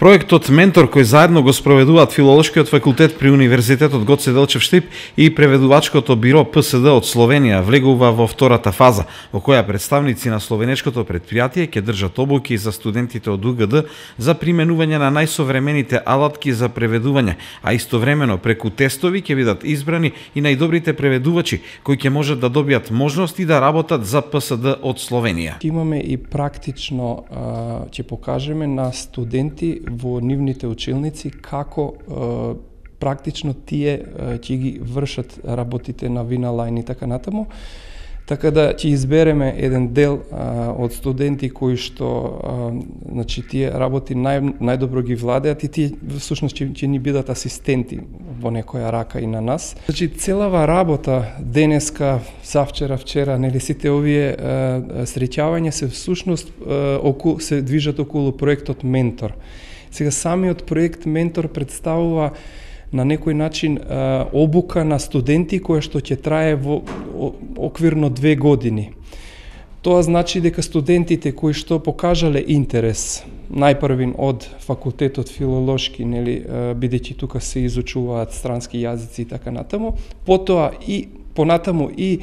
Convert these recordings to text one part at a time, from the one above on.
Проектот Ментор, кој заедно го спроведуваат Филолошкиот факултет при Универзитетот Гоце Делчев Штип и преведувачкото биро ПСД од Словенија, влегува во втората фаза, во која представници на словенечкото претпријатие ќе држат обуки за студентите од УГД за применување на најсовремените алатки за преведување, а истовремено преку тестови ќе бидат избрани и најдобрите преведувачи кои ќе можат да добијат можност и да работат за ПСД од Словенија. Имаме и практично ќе покажеме на студенти во нивните училници како практично тие ќе ги вршат работите на Виналайн и така натаму. Така да ќе избереме еден дел од студенти кои што значи тие работи најдобро ги владеат и тие всушност ќе ни бидат асистенти во некоја рака и на нас. Значи целава работа денеска, завчера, вчера, нели сите овие среќавања се всушност се движат околу проектот Ментор. Сега самиот проект Ментор представува на некој начин обука на студенти која што ќе трае во оквирно 2 години. Тоа значи дека студентите кои што покажале интерес најпрвин од факултетот филолошки, нели, бидејќи тука се изучуваат странски јазици и така натаму, потоа и понатаму и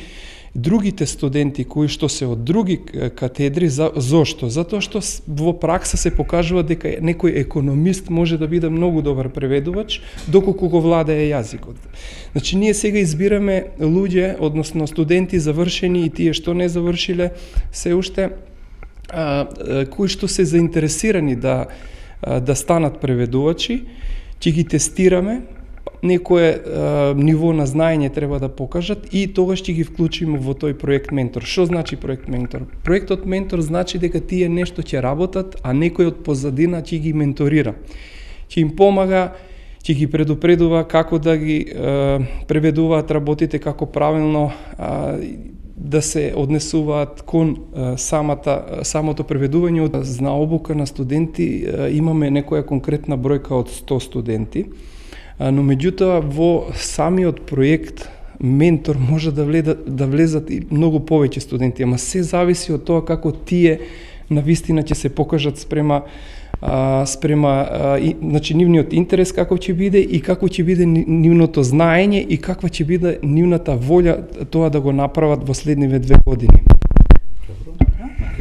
другите студенти кои што се од други катедри, зошто? Затоа што во пракса се покажува дека некој економист може да биде многу добар преведувач доколку го владее јазикот. Значи ние сега избираме луѓе, односно студенти завршени и тие што не завршиле се уште кои што се заинтересирани да станат преведувачи, ќе ги тестираме. Некое ниво на знаење треба да покажат и тогаш ќе ги вклучиме во тој проект Ментор. Што значи проект Ментор? Проектот Ментор значи дека тие нешто ќе работат, а некој од позадина ќе ги менторира. Ќе им помага, ќе ги предупредува како да ги преведуваат работите, како правилно да се однесуваат кон самото преведување. На обука на студенти имаме некоја конкретна бројка од 100 студенти. Но меѓутоа во самиот проект Ментор може да влезат и многу повеќе студенти, ама се зависи од тоа како тие навистина ќе се покажат спрема значи нивниот интерес како ќе биде и како ќе биде нивното знаење и каква ќе биде нивната волја тоа да го направат во следниве 2 години.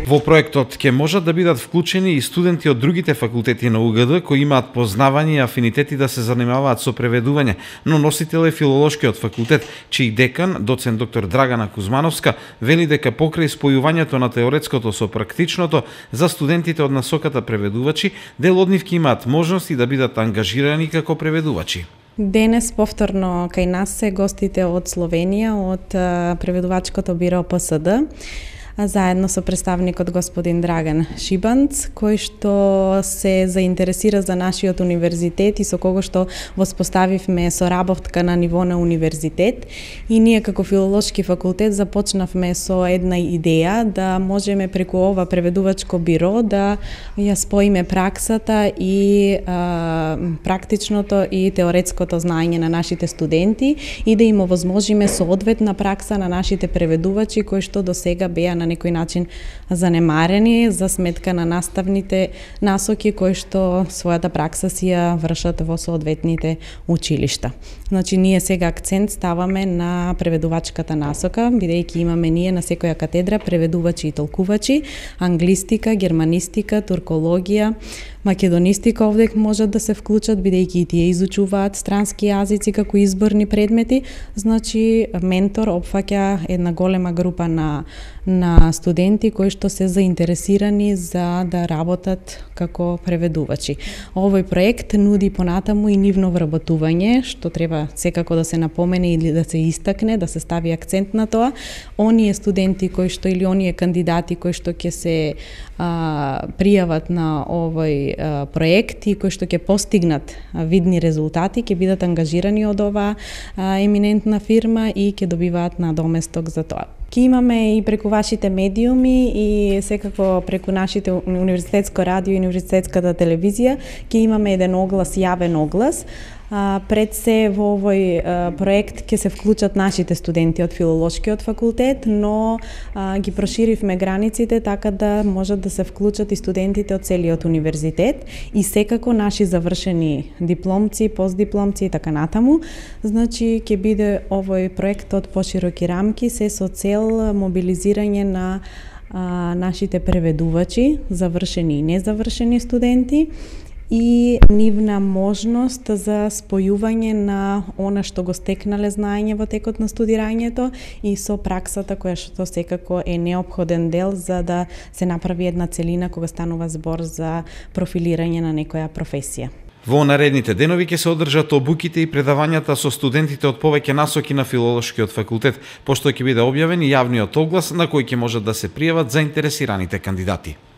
Во проектот ќе можат да бидат вклучени и студенти од другите факултети на УГД кои имаат познавања и афинитети да се занимаваат со преведување, но носител е Филолошкиот факултет, чиј декан, доцент доктор Драгана Кузмановска, вели дека покрај спојувањето на теоретското со практичното за студентите од насоката преведувачи, дел од нив ќе имаат можности да бидат ангажирани како преведувачи. Денес повторно кај нас се гостите од Словенија, од преведувачкото биро ПСД, заедно со представникот господин Драган Шибанц, кој што се заинтересира за нашиот универзитет и со кого што воспоставивме соработка на ниво на универзитет. И ние како Филолошки факултет започнавме со една идеја да можеме преку ова преведувачко биро да ја споиме праксата и практичното и теоретското знаење на нашите студенти и да им овозможиме соодветна пракса на нашите преведувачи кои што досега беа на некој начин занемарени за сметка на наставните насоки кои што својата пракса си ја вршат во соодветните училишта. Значи ние сега акцент ставаме на преведувачката насока, бидејќи имаме ние на секоја катедра преведувачи и толкувачи, англистика, германистика, туркологија, македонистика овде можат да се вклучат, бидејќи и тие изучуваат странски јазици како изборни предмети. Значи Ментор опфаќа една голема група на студенти кои што се заинтересирани за да работат како преведувачи. Овој проект нуди понатаму и нивно вработување, што треба секако да се напомене или да се истакне, да се стави акцент на тоа. Оние студенти кои што или оние кандидати кои што ќе се пријават на овој проект и кои што ќе постигнат видни резултати, ќе бидат ангажирани од оваа еминентна фирма и ќе добиваат надоместок за тоа. Ке имаме и преку вашите медиуми и секако преку нашите универзитетско радио и универзитетската телевизија, ке имаме еден оглас, јавен оглас, Пред се во овој проект ќе се вклучат нашите студенти од Филолошкиот факултет, но ги проширивме границите така да можат да се вклучат и студентите од целиот универзитет и секако наши завршени дипломци, постдипломци и така натаму. Значи ќе биде овој проект од пошироки рамки се со цел мобилизирање на нашите преведувачи, завршени и незавршени студенти, и нивна можност за спојување на она што го стекнале знаење во текот на студирањето и со праксата која што секако е неопходен дел за да се направи една целина кога станува збор за профилирање на некоја професија. Во наредните денови ќе се одржат обуките и предавањата со студентите од повеќе насоки на Филолошкиот факултет, пошто ќе биде објавен и јавниот оглас на кој ќе можат да се пријават заинтересираните кандидати.